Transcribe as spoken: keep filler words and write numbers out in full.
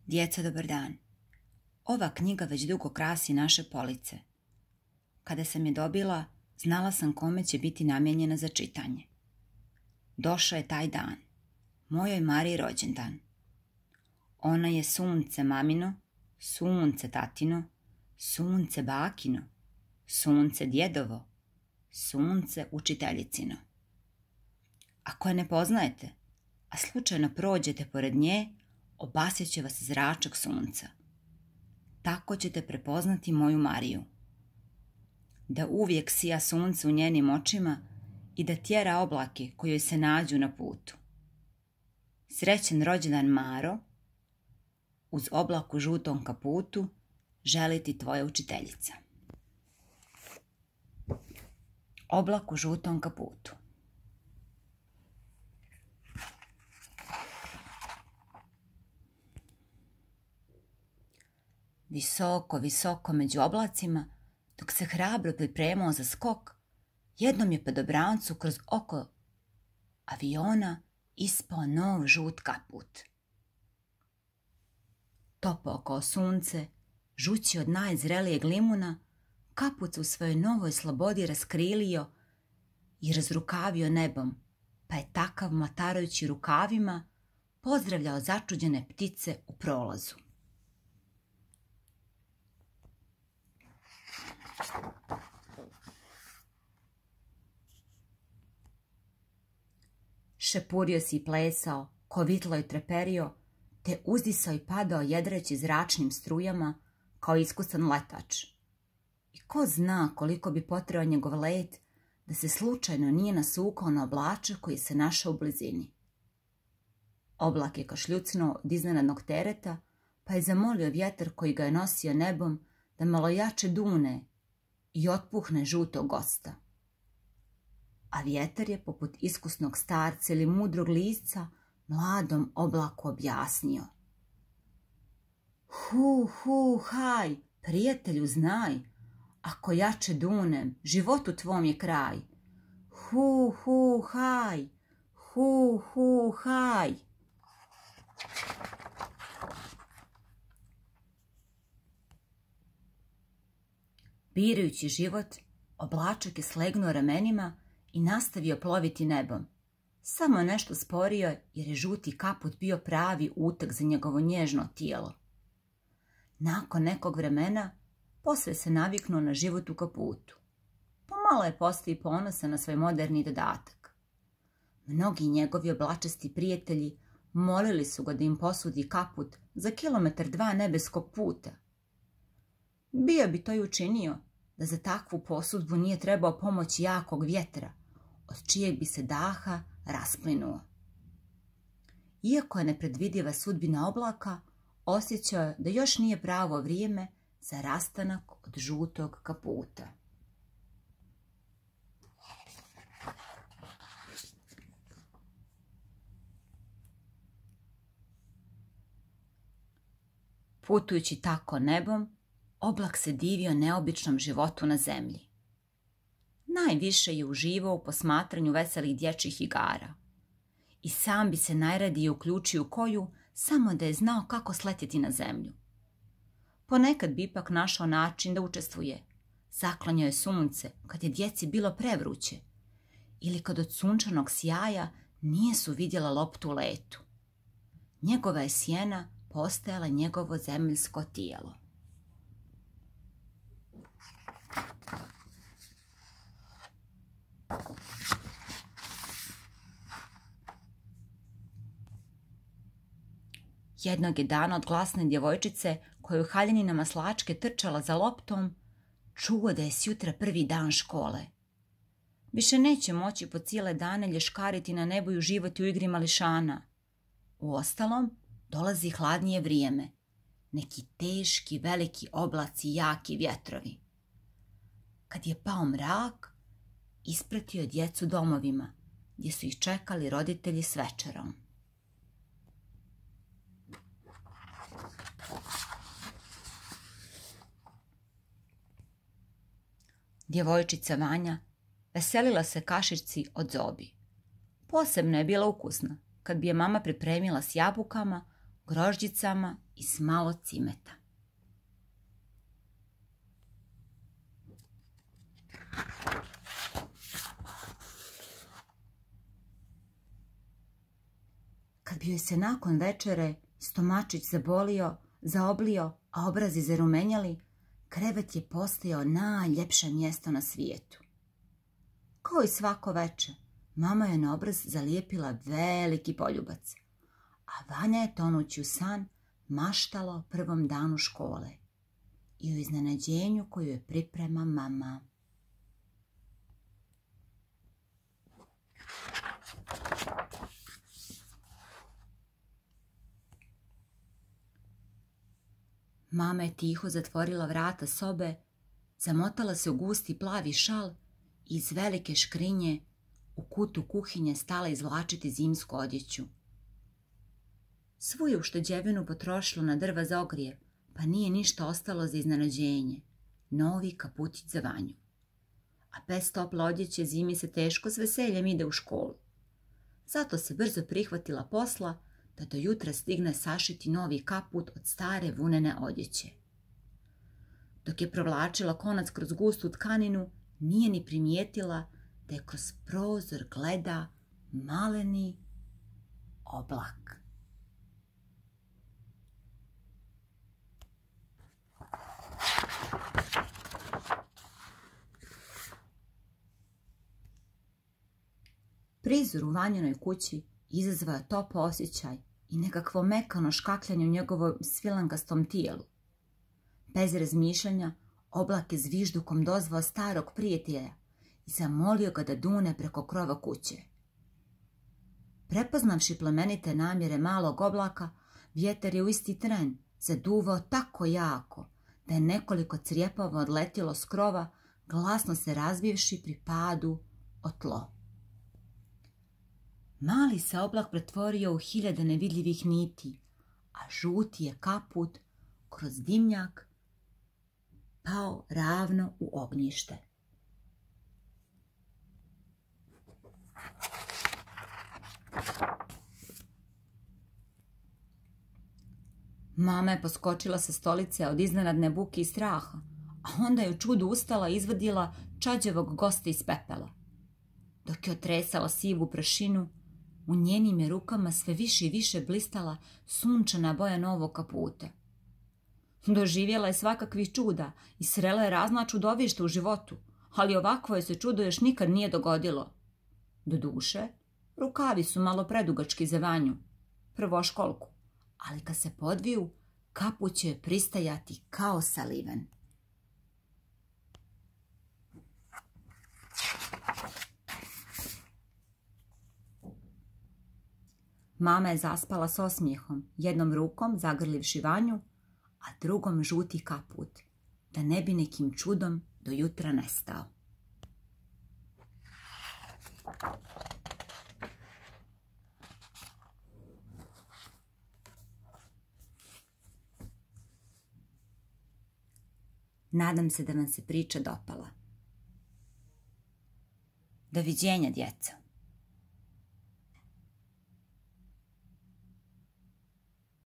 Djeco, dobar dan. Ova knjiga već dugo krasi naše police. Kada sam je dobila, znala sam kome će biti namijenjena za čitanje. Došao je taj dan. Mojoj Mariji rođendan. Ona je sunce mamino, sunce tatino, sunce bakino, sunce djedovo, sunce učiteljicino. Ako je ne poznajete, a slučajno prođete pored nje, obasjet će vas zračak sunca. Tako ćete prepoznati moju Mariju. Da uvijek sija sunce u njenim očima i da tjera oblake koji joj se nađu na putu. Srećen rođendan, Maro, uz oblak u žutom kaputu želi ti tvoja učiteljica. Oblak u žutom kaputu. Visoko, visoko među oblacima, dok se hrabro pripremao za skok, jednom je padobrancu kroz oko aviona ispao nov žut kaput. Topao kao sunce, žući od najzrelijeg limuna, kaput se u svojoj novoj slobodi raskrilio i razrukavio nebom, pa je takav mlatarajući rukavima pozdravljao začuđene ptice u prolazu. Šepurio si i plesao, kovitlo i treperio, te uzdisao i padao jedreći zračnim strujama kao iskusan letač. I ko zna koliko bi potreo njegov let da se slučajno nije nasukao na oblačak koji se našao u blizini. Oblak je kašljucnuo od iznenadnog tereta, pa je zamolio vjetar koji ga je nosio nebom da malo jače dune i otpuhne žutog gosta. A vjetar je, poput iskusnog starca ili mudrog lisca, mladom oblaku objasnio. Hu, hu, haj, prijatelju znaj, ako jače dunem, životu tvom je kraj. Hu, hu, haj, hu, hu, haj. Birajući život, oblačak je slegnuo ramenima i nastavio ploviti nebom. Samo nešto sporio jer je žuti kaput bio pravi uteg za njegovo nježno tijelo. Nakon nekog vremena posve se naviknuo na život u kaputu. Pomalo je postao i ponosan na svoj moderni dodatak. Mnogi njegovi oblačasti prijatelji molili su ga da im posudi kaput za kilometar dva nebeskog puta. Bio bi to i učinio da za takvu posudbu nije trebao pomoć jakog vjetra, od čijeg bi se daha rasplinuo. Iako je nepredvidiva sudbina oblaka, osjećao je da još nije pravo vrijeme za rastanak od žutog kaputa. Putujući tako nebom, oblak se divio neobičnom životu na zemlji. Najviše je uživao u posmatranju veselih dječjih igara. I sam bi se najradije uključio u koju, samo da je znao kako sletjeti na zemlju. Ponekad bi ipak našao način da učestvuje. Zaklanjao je sunce kad je djeci bilo prevruće ili kad od sunčanog sjaja nije su vidjela loptu u letu. Njegova je sjena postajala njegovo zemaljsko tijelo. Jednog je dana od glasne djevojčice koja je u haljini maslačke trčala za loptom, čuo da je sjutra prvi dan škole. Više neće moći po cijele dane lješkariti na nebu i uživati u igri mališana. Uostalom, dolazi hladnije vrijeme. Neki teški, veliki oblaci i jaki vjetrovi. Kad je pao mrak, ispratio je djecu domovima, gdje su ih čekali roditelji s večerom. Djevojčica Vanja veselila se kašici od zobi. Posebno je bila ukusna kad bi je mama pripremila s jabukama grožđicama i s malo cimeta. Kad bi joj se nakon večere stomačić zabolio, zaoblio, a obrazi zarumenjali, krevet je postajao najljepše mjesto na svijetu. Kao i svako veče, mama je na obraz zalijepila veliki poljubac, a Vanja je tonući u san maštala o prvom danu škole i o iznenađenju koju je priprema mama. Mama je tiho zatvorila vrata sobe, zamotala se u gusti plavi šal i iz velike škrinje u kutu kuhinje stala izvlačiti zimsku odjeću. Svu je ušteđevinu potrošilo na drva za ogrjev, pa nije ništa ostalo za iznenađenje. Novi kaputić za Vanju. A bez tople odjeće zimi se teško s veseljem ide u školu. Zato se brzo prihvatila posla da do jutra stigne sašiti novi kaput od stare vunene odjeće. Dok je provlačila konac kroz gustu tkaninu, nije ni primijetila da je kroz prozor gleda maleni oblak. Prizor u Vanjinoj kući izazvao top osjećaj i nekakvo mekano škakljanje u njegovom svilankastom tijelu. Bez razmišljanja, oblak je zviždukom dozvao starog prijatelja i zamolio ga da dune preko krova kuće. Prepoznavši plemenite namjere malog oblaka, vjetar je u isti tren zaduvao tako jako da je nekoliko crijepova odletilo s krova, glasno se razbivši pri padu o tlo. Mali se oblak pretvorio u hiljade nevidljivih niti, a žuti je kaput kroz dimnjak pao ravno u ognjište. Mama je poskočila sa stolice od iznenadne buke i straha, a onda je u čudu ustala i izvadila čađavog gosta iz pepela. Dok je otresala sivu prašinu, u njenim je rukama sve više i više blistala sunčana boja novog kaputa. Doživjela je svakakvih čuda i srela je razna čudovišta u životu, ali ovakvo je se čudo još nikad nije dogodilo. Doduše, rukavi su malo predugački za Vanju, prvoškolku, ali kad se podviju, kaput će joj pristajati kao saliven. Mama je zaspala s osmijehom, jednom rukom zagrlivši Vanju, a drugom žuti kaput, da ne bi nekim čudom do jutra nestao. Nadam se da vam se priča dopala. Doviđenja, djeco.